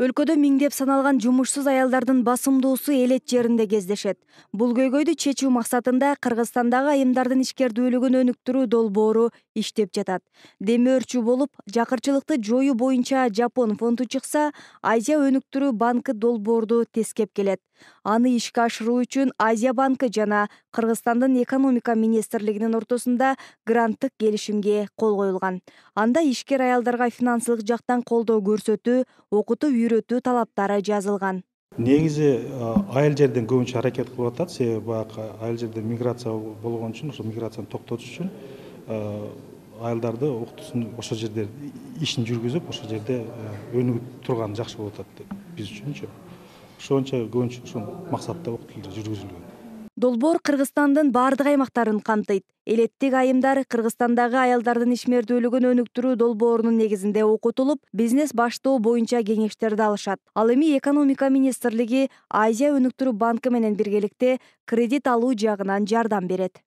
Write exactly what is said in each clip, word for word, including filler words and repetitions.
Өлкөдө миңдеп саналган жумушсуз аялдардын басымдуусу элет жеринде кездешет. Бул көйгөйдү чечүү максатында Кыргызстандагы айымдардын ишкердүүлүгүн өнүктүрүү долбоору иштеп жатат. Демөөрчү болуп, жакырчылыкты жоюу боюнча Жапон фонду чыкса, Азия өнүктүрүү банкы долбоорду тескеп келет. Аны ишке ашыруу үчүн Азия банкы жана Кыргызстандын экономика министрлигинин ортосунда гранттык келишимге кол коюлган. Анда ишкер аялдарга финансылык жактан колдоо көрсөтүү, окутуп үйрөтүү талаптары жазылган. Негизи айыл жерден көбүнчө аракет кылып атат, себеби баягы айыл жерде миграция болгон үчүн, ошо миграцияны токтотуш үчүн айылдарды окутуусун ошол жерде ишин жүргүзүп, ошол жерде өнүгүп турган жакшы болуп атат биз үчүнчү. Ошончо көбүнчө ушул максатта окутуулар жүргүзүлгөн. Долбоор Кыргызстандын бардык аймактарын камтыйт. Элеттик айымдар Кыргызстандагы аялдардын ишмердүүлүгүн өнүктүрүү долбоорунун негизинде окутулуп, бизнес баштоо боюнча кеңештерди алышат. Ал эми экономика министрлиги Азия өнүктүрүү банкы менен биргеликте кредит алуу жагынан жардам берет.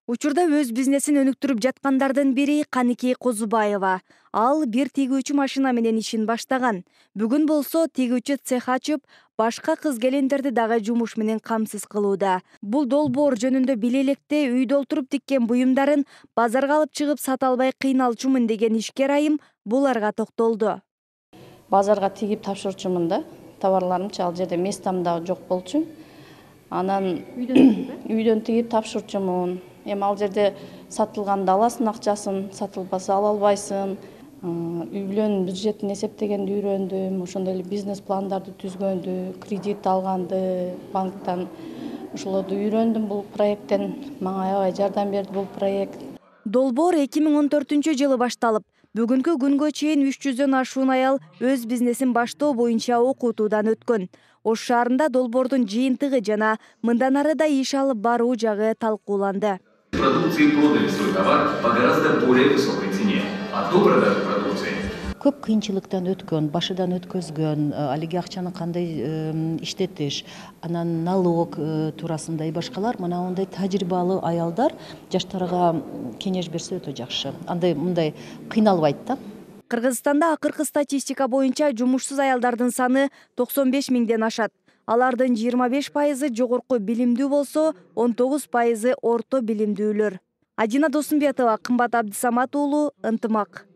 Учурда өз бизнесин өнүктүрүп жаткандардын бири Каникей Козубаева. Ал бир тигүүчү машина менен ишин баштаган. Бүгүн болсо тигүүчү цех ачып, башка кыз-келиндерди дагы жумуш менен камсыз кылууда. Бул долбоор жөнүндө биле электе үйдө олтуруп тиккен буюмдарын базарга алып чыгып сата албай кыйналчумун деген ишкер айым буларга токтолду. Базарга тигип тапшырчумун да, товарларымчы, ал жерде местам да жок болчу. Анан үйдөн тигип тапшырчумун. Эми ал жерде сатылганда аласың акчасын, сатылбаса ала албайсың. Үй бүлөнүн бюджетин эсептегенди үйрөндүм, ошондой эле бизнес пландарды түзгөндү, кредит алганды банктан. Ошолорду үйрөндүм бул проекттен. Мага аябай жардам берди бул проект. Долбоор эки миң он төртүнчү жылы башталып, бүгүнкү күнгө чейин үч жүздөн ашуун аял өз бизнесин баштоо боюнча окутуудан өткөн. Ош шаарында долбоордун жыйынтыгы жана мындан ары да иш алып баруу жагы талкууланды. Продукции продали свой товар по гораздо более высокой цене, а до продажи продукции көп кыйынчылыктан өткөн, башыдан өткөзгөн, алиги акчаны кандай иштетиш, анан налог туурасында и башкалар мына мындай тажрыйбалуу аялдар жаштарга кеңеш берсе өтө жакшы. Андай мындай кыйналбайт да. Кыргызстанда акыркы статистика боюнча жумушсуз аялдардын саны токсон беш миңден ашат. Алардын жыйырма беш пайызы жогорку билимдүү болсо, он тогуз пайызы орто билимдүүлөр. Адина Досумбетова, Кымбат Абдысамат уулу, Ынтымак.